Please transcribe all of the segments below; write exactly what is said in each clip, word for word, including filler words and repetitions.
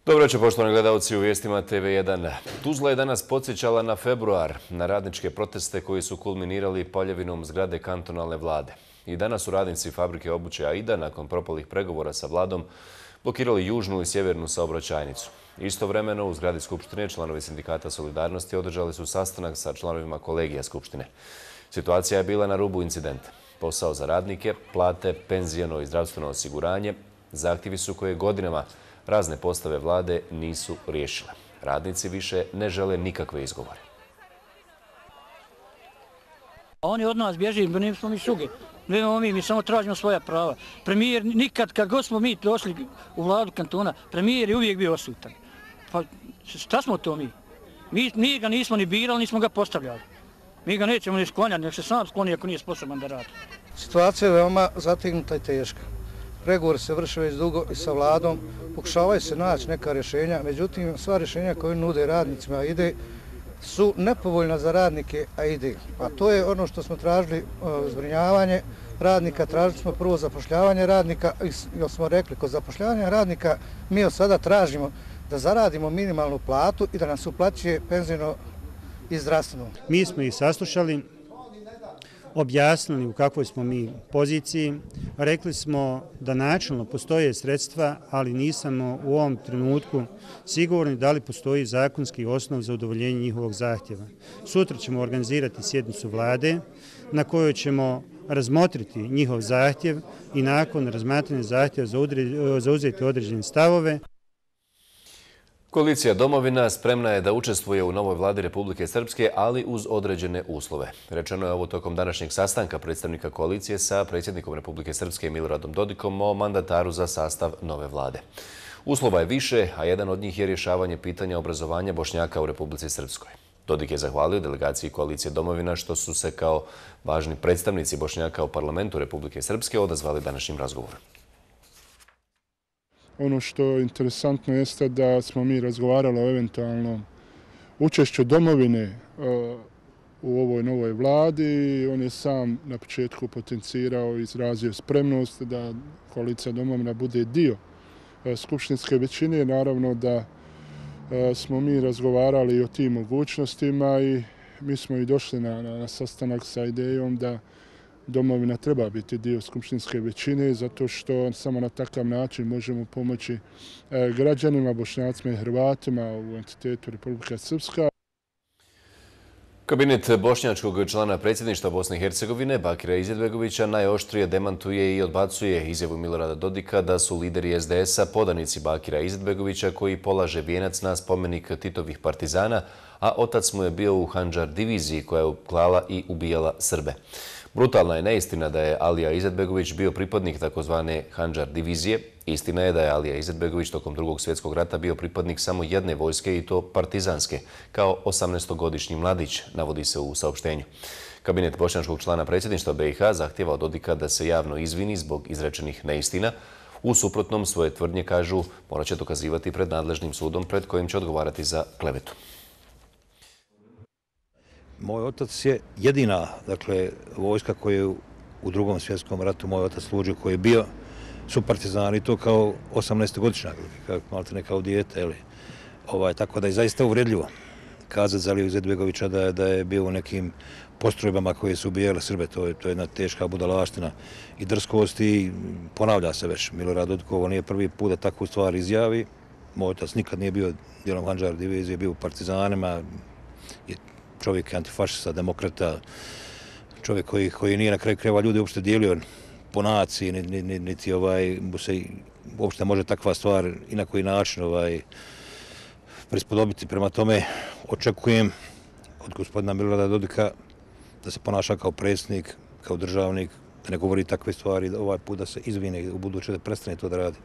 Dobro večer, poštovani gledalci u vijestima T V jedan. Tuzla je danas podsjećala na februar, na radničke proteste koji su kulminirali paljevinom zgrade kantonalne vlade. I danas su radnici fabrike obuće Aida, nakon propalih pregovora sa vladom, blokirali južnu i sjevernu saobraćajnicu. Istovremeno u zgradi Skupštine članovi sindikata Solidarnosti održali su sastanak sa članovima kolegija Skupštine. Situacija je bila na rubu incidenta. Posao za radnike, plate, penziono i zdravstveno osiguranje, zahtjevi su koje godinama razne postave vlade nisu riješile. Radnici više ne žele nikakve izgovore. Oni od nas bježi, mi nismo mi šuge. Mi, mi, mi samo tražimo svoja prava. Premijer nikad, kad god smo mi došli u vladu kantona, premijer je uvijek bio odsutan. Pa šta smo to mi? Mi, mi ga nismo ni birali, nismo ga postavljali. Mi ga nećemo ni sklanjati, nek se sam skloni ako nije sposoban da radi. Situacija je veoma zategnuta i teška. Pregovori se vrše već dugo i sa vladom, pokušavaju se naći neka rješenja, međutim sva rješenja koje nude radnicima Aide su nepovoljna za radnike Aide. A to je ono što smo tražili, zbrinjavanje radnika, tražili smo prvo zapošljavanje radnika, jer smo rekli kod zapošljavanja radnika mi od sada tražimo da zaradimo minimalnu platu i da nam se uplaćuje penzijno i zdravstveno. Mi smo ih saslušali, objasnili u kakvoj smo mi poziciji, rekli smo da načelno postoje sredstva, ali nismo u ovom trenutku sigurni da li postoji zakonski osnov za udovoljenje njihovog zahtjeva. Sutra ćemo organizirati sjednicu vlade na kojoj ćemo razmotriti njihov zahtjev i nakon razmatranja zahtjeva zauzeti određene stavove. Koalicija Domovina spremna je da učestvuje u novoj vladi Republike Srpske, ali uz određene uslove. Rečeno je ovo tokom današnjeg sastanka predstavnika koalicije sa predsjednikom Republike Srpske Miloradom Dodikom o mandataru za sastav nove vlade. Uslova je više, a jedan od njih je rješavanje pitanja obrazovanja Bošnjaka u Republici Srpskoj. Dodik je zahvalio delegaciji koalicije Domovina što su se kao važni predstavnici Bošnjaka u parlamentu Republike Srpske odazvali današnjim razgovorom. Ono što je interesantno jeste da smo mi razgovarali o eventualnom učešću Domovine u ovoj novoj vladi. On je sam na početku potencirao i izrazio spremnost da koalicija Domovina bude dio skupštinske većine. Naravno da smo mi razgovarali o tim mogućnostima i mi smo i došli na, na sastanak sa idejom da Domovina treba biti dio skupštinske većine zato što samo na takav način možemo pomoći građanima, Bošnjacima i Hrvatima u entitetu Republika Srpska. Kabinet bošnjačkog člana predsjedništva Bosne i Hercegovine Bakira Izetbegovića najoštrije demantuje i odbacuje izjavu Milorada Dodika da su lideri S D S-a podanici Bakira Izetbegovića koji polaže vijenac na spomenik Titovih partizana, a otac mu je bio u Handžar diviziji koja je klala i ubijala Srbe. Brutalna je neistina da je Alija Izetbegović bio pripadnik takozvane Handžar divizije. Istina je da je Alija Izetbegović tokom drugog svjetskog rata bio pripadnik samo jedne vojske i to partizanske, kao osamnaestogodišnji mladić, navodi se u saopštenju. Kabinet bošnjačkog člana predsjedništva B i H zahtjeva od Dodika da se javno izvini zbog izrečenih neistina. U suprotnom svoje tvrdnje, kažu, morat će dokazivati pred nadležnim sudom pred kojim će odgovarati za klevetu. Moj otac je jedina, dakle, vojska koju je u drugom svjetskom ratu moj otac služio, koji je bio su partizani, to kao osamnaestogodišnjak, malte ne kao dijete, eli. Ovaj, tako da je zaista uvredljivo kazati za Aliju Izetbegovića da, da je bio u nekim postrojbama koje su ubijale Srbe. To je, to je jedna teška budalaština i drskost i ponavlja se već. Milorad Dodik, ovo nije prvi put da takvu stvar izjavi. Moj otac nikad nije bio dijelom Handžar divizije, bio u partizanima, je čovjek je antifašista, demokrata, čovjek koji, koji nije na kraju krajeva ljudi uopšte dijelio po naciji, niti, niti, niti ovaj, se uopšte može takva stvar i na koji način ovaj, prispodobiti. Prema tome očekujem od gospodina Milorada Dodika da se ponaša kao predsjednik, kao državnik, da ne govori takve stvari, da ovaj put da se izvine i u buduće da prestane to da radi.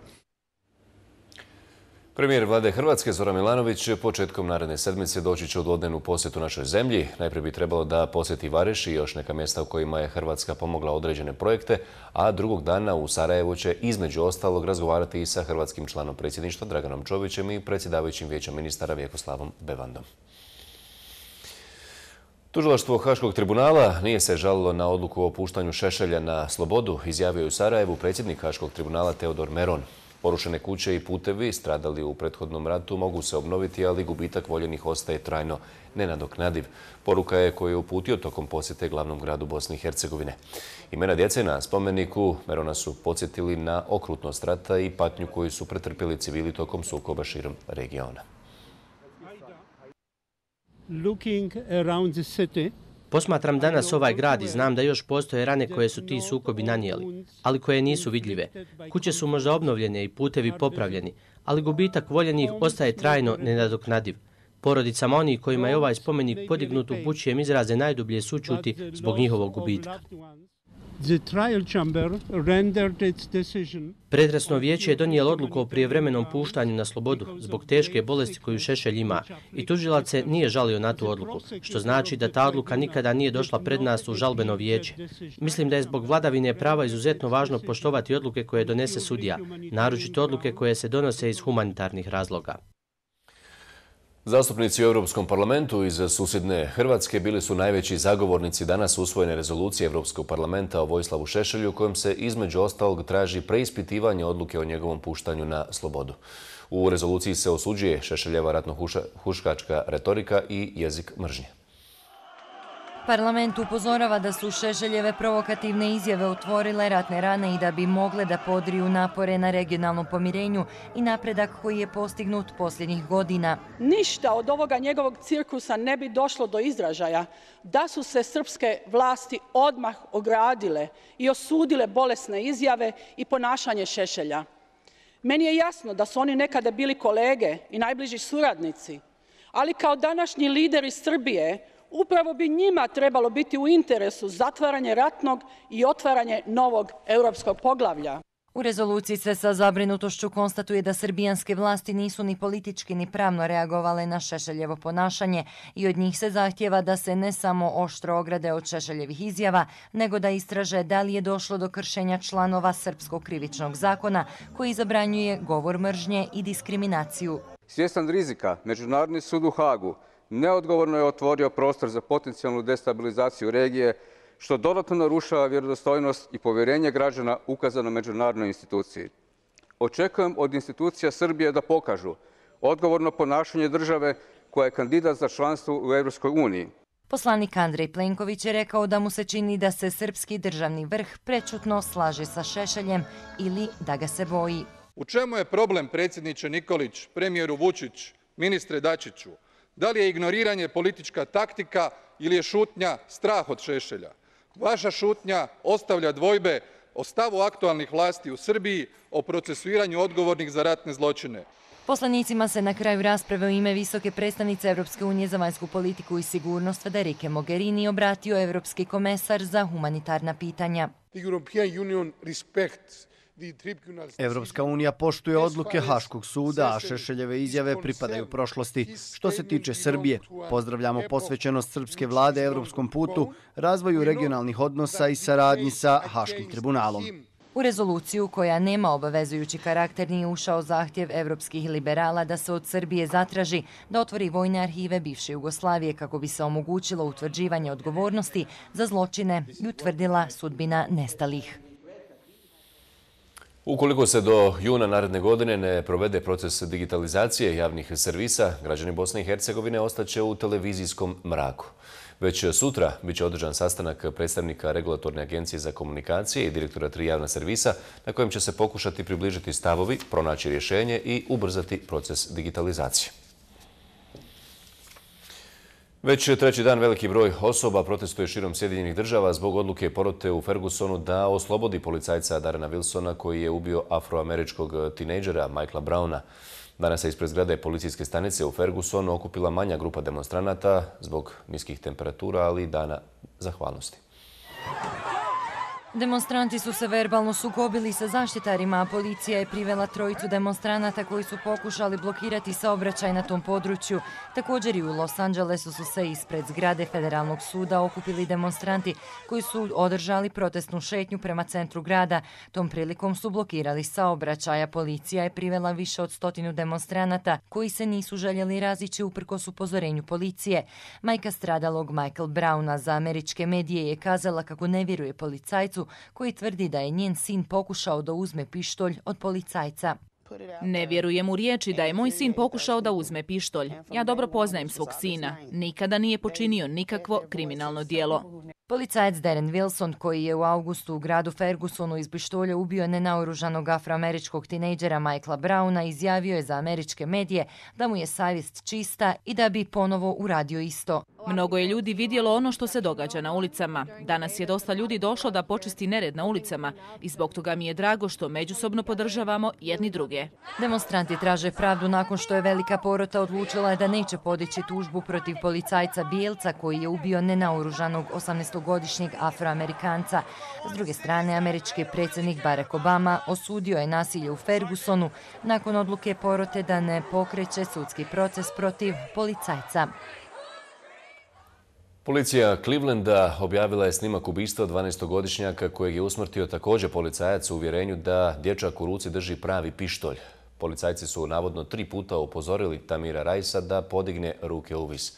Premijer vlade Hrvatske Zoran Milanović početkom naredne sedmice doći će u dvodnevnu posjetu našoj zemlji. Najprije bi trebalo da posjeti Vareš i još neka mjesta u kojima je Hrvatska pomogla određene projekte, a drugog dana u Sarajevu će između ostalog razgovarati i sa hrvatskim članom predsjedništva Draganom Čovićem i predsjedavajućim vijećem ministara Vjekoslavom Bevandom. Tužilaštvo Haškog tribunala nije se žalilo na odluku o puštanju Šešelja na slobodu, izjavio je u Sarajevu predsjednik Haškog tribunala Teodor Meron. Porušene kuće i putevi stradali u prethodnom ratu mogu se obnoviti, ali gubitak voljenih ostaje trajno nenadoknadiv. Poruka je koju je uputio tokom posjete glavnom gradu Bosne i Hercegovine. Imena djece na spomeniku Merona su podsjetili na okrutnost rata i patnju koju su pretrpjeli civili tokom sukoba širom regiona. Looking around the city, Posmatram danas ovaj grad i znam da još postoje rane koje su ti sukobi nanijeli, ali koje nisu vidljive. Kuće su možda obnovljene i putevi popravljeni, ali gubitak voljenih ostaje trajno nenadoknadiv. Porodicama onih kojima je ovaj spomenik podignut upućujem izraze najdublje sućuti zbog njihovog gubitka. Pretresno vijeće je donijelo odluku o prijevremenom puštanju na slobodu zbog teške bolesti koju Šešelj ima i tužilac se nije žalio na tu odluku, što znači da ta odluka nikada nije došla pred nas u žalbeno vijeće. Mislim da je zbog vladavine prava izuzetno važno poštovati odluke koje donese sudija, naročito odluke koje se donose iz humanitarnih razloga. Zastupnici u Europskom parlamentu iz susjedne Hrvatske bili su najveći zagovornici danas usvojene rezolucije Europskog parlamenta o Vojislavu Šešelju, kojom se između ostalog traži preispitivanje odluke o njegovom puštanju na slobodu. U rezoluciji se osuđuje Šešeljeva ratno-huškačka retorika i jezik mržnje. Parlament upozorava da su Šešeljeve provokativne izjave otvorile ratne rane i da bi mogle da podriju napore na regionalnom pomirenju i napredak koji je postignut posljednjih godina. Ništa od ovoga njegovog cirkusa ne bi došlo do izražaja da su se srpske vlasti odmah ogradile i osudile bolesne izjave i ponašanje Šešelja. Meni je jasno da su oni nekada bili kolege i najbliži suradnici, ali kao današnji lideri Srbije upravo bi njima trebalo biti u interesu zatvaranje ratnog i otvaranje novog europskog poglavlja. U rezoluciji se sa zabrinutošću konstatuje da srbijanske vlasti nisu ni politički ni pravno reagovale na Šešeljevo ponašanje i od njih se zahtjeva da se ne samo oštro ograde od Šešeljevih izjava, nego da istraže da li je došlo do kršenja članova Srpskog krivičnog zakona koji zabranjuje govor mržnje i diskriminaciju. Svjestan rizika, Međunarodni sud u Hagu neodgovorno je otvorio prostor za potencijalnu destabilizaciju regije, što dodatno narušava vjerodostojnost i povjerenje građana ukazano međunarodnoj instituciji. Očekujem od institucija Srbije da pokažu odgovorno ponašanje države koja je kandidat za članstvo u Europskoj uniji. Poslanik Andrej Plenković je rekao da mu se čini da se srpski državni vrh prečutno slaže sa Šešeljem ili da ga se boji. U čemu je problem, predsjedniče Nikolić, premijeru Vučić, ministre Dačiću? Da li je ignoriranje politička taktika ili je šutnja strah od Šešelja? Vaša šutnja ostavlja dvojbe o stavu aktualnih vlasti u Srbiji, o procesuiranju odgovornih za ratne zločine. Poslanicima se na kraju rasprave u ime visoke predstavnice Europske unije za vanjsku politiku i sigurnost Federike Mogherini obratio Europski komesar za humanitarna pitanja. Evropska unija poštuje odluke Haškog suda, a Šešeljeve izjave pripadaju prošlosti. Što se tiče Srbije, pozdravljamo posvećenost srpske vlade evropskom putu, razvoju regionalnih odnosa i saradnji sa Haškim tribunalom. U rezoluciju, koja nema obavezujući karakter, nije ušao zahtjev evropskih liberala da se od Srbije zatraži da otvori vojne arhive bivše Jugoslavije kako bi se omogućilo utvrđivanje odgovornosti za zločine i utvrdila sudbina nestalih. Ukoliko se do juna naredne godine ne provede proces digitalizacije javnih servisa, građani Bosne i Hercegovine ostaće u televizijskom mraku. Već sutra biće održan sastanak predstavnika Regulatorne agencije za komunikacije i direktora tri javna servisa, na kojem će se pokušati približiti stavovi, pronaći rješenje i ubrzati proces digitalizacije. Već treći dan veliki broj osoba protestuje širom Sjedinjenih država zbog odluke porote u Fergusonu da oslobodi policajca Darrena Wilsona koji je ubio afroameričkog tinejdžera Michaela Browna. Danas se ispred zgrade policijske stanice u Fergusonu okupila manja grupa demonstranata zbog niskih temperatura, ali i dana zahvalnosti. Demonstranti su se verbalno sukobili sa zaštitarima, a policija je privela trojicu demonstranata koji su pokušali blokirati saobraćaj na tom području. Također i u Los Angelesu su se ispred zgrade Federalnog suda okupili demonstranti koji su održali protestnu šetnju prema centru grada. Tom prilikom su blokirali saobraćaj, a policija je privela više od stotinu demonstranata koji se nisu željeli razići uprkos upozorenju policije. Majka stradalog Michael Browna za američke medije je kazala kako ne vjeruje policajcu koji tvrdi da je njen sin pokušao da uzme pištolj od policajca. Ne vjerujem u riječi da je moj sin pokušao da uzme pištolj. Ja dobro poznajem svog sina. Nikada nije počinio nikakvo kriminalno djelo. Policajac Darren Wilson, koji je u augustu u gradu Fergusonu iz pištolja ubio nenaoružanog afroameričkog tinejdžera Michaela Browna, izjavio je za američke medije da mu je savjest čista i da bi ponovo uradio isto. Mnogo je ljudi vidjelo ono što se događa na ulicama. Danas je dosta ljudi došlo da počisti nered na ulicama i zbog toga mi je drago što međusobno podržavamo jedni druge. Demonstranti traže pravdu nakon što je velika porota odlučila da neće podići tužbu protiv policajca bijelca koji je ubio nenaoružanog osamnaestogodišnjeg afroamerikanca. S druge strane, američki predsjednik Barack Obama osudio je nasilje u Fergusonu nakon odluke porote da ne pokreće sudski proces protiv policajca. Policija Clevelanda objavila je snimak ubistva dvanaestogodišnjaka kojeg je usmrtio također policajac u uvjerenju da dječak u ruci drži pravi pištolj. Policajci su navodno tri puta upozorili Tamira Rajsa da podigne ruke u vis.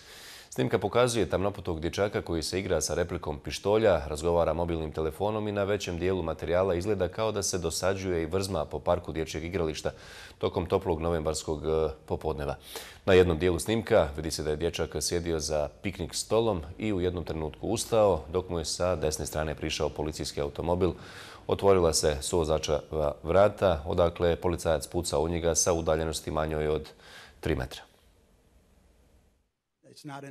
Snimka pokazuje tamnoputog dječaka koji se igra sa replikom pištolja, razgovara mobilnim telefonom i na većem dijelu materijala izgleda kao da se dosađuje i vrzma po parku dječjeg igrališta tokom toplog novembarskog popodneva. Na jednom dijelu snimka vidi se da je dječak sjedio za piknik stolom i u jednom trenutku ustao, dok mu je sa desne strane prišao policijski automobil. Otvorila se suvozačeva vrata, odakle je policajac pucao u njega sa udaljenosti manjoj od tri metra.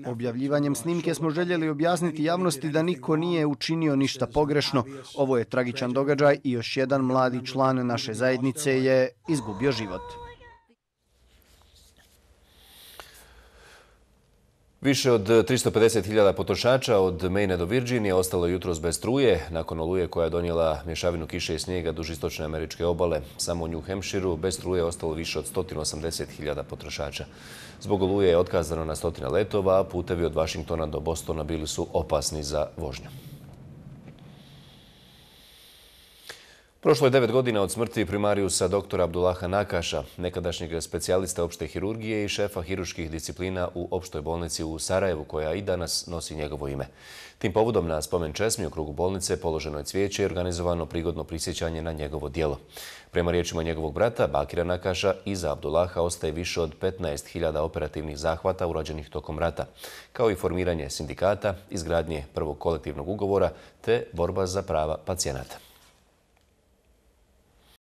Objavljivanjem snimke smo željeli objasniti javnosti da niko nije učinio ništa pogrešno. Ovo je tragičan događaj i još jedan mladi član naše zajednice je izgubio život. Više od tristo pedeset hiljada potrošača od Maine do Virginije ostalo jutros bez struje nakon oluje koja je donijela mješavinu kiše i snijega duž istočne američke obale. Samo u New Hampshireu bez struje ostalo više od sto osamdeset hiljada potrošača. Zbog oluje je otkazano na stotine letova, a putevi od Washingtona do Bostona bili su opasni za vožnju. Prošlo je devet godina od smrti primarijusa doktora Abdullaha Nakaša, nekadašnjeg specijalista opšte hirurgije i šefa hirurških disciplina u opštoj bolnici u Sarajevu, koja i danas nosi njegovo ime. Tim povodom na spomen česmi u krugu bolnice položeno je cvijeće i organizovano prigodno prisjećanje na njegovo djelo. Prema riječima njegovog brata, Bakira Nakaša, iza Abdullaha ostaje više od petnaest hiljada operativnih zahvata urađenih tokom rata, kao i formiranje sindikata, izgradnje prvog kolektivnog ugovora te borba za prava pacijenata.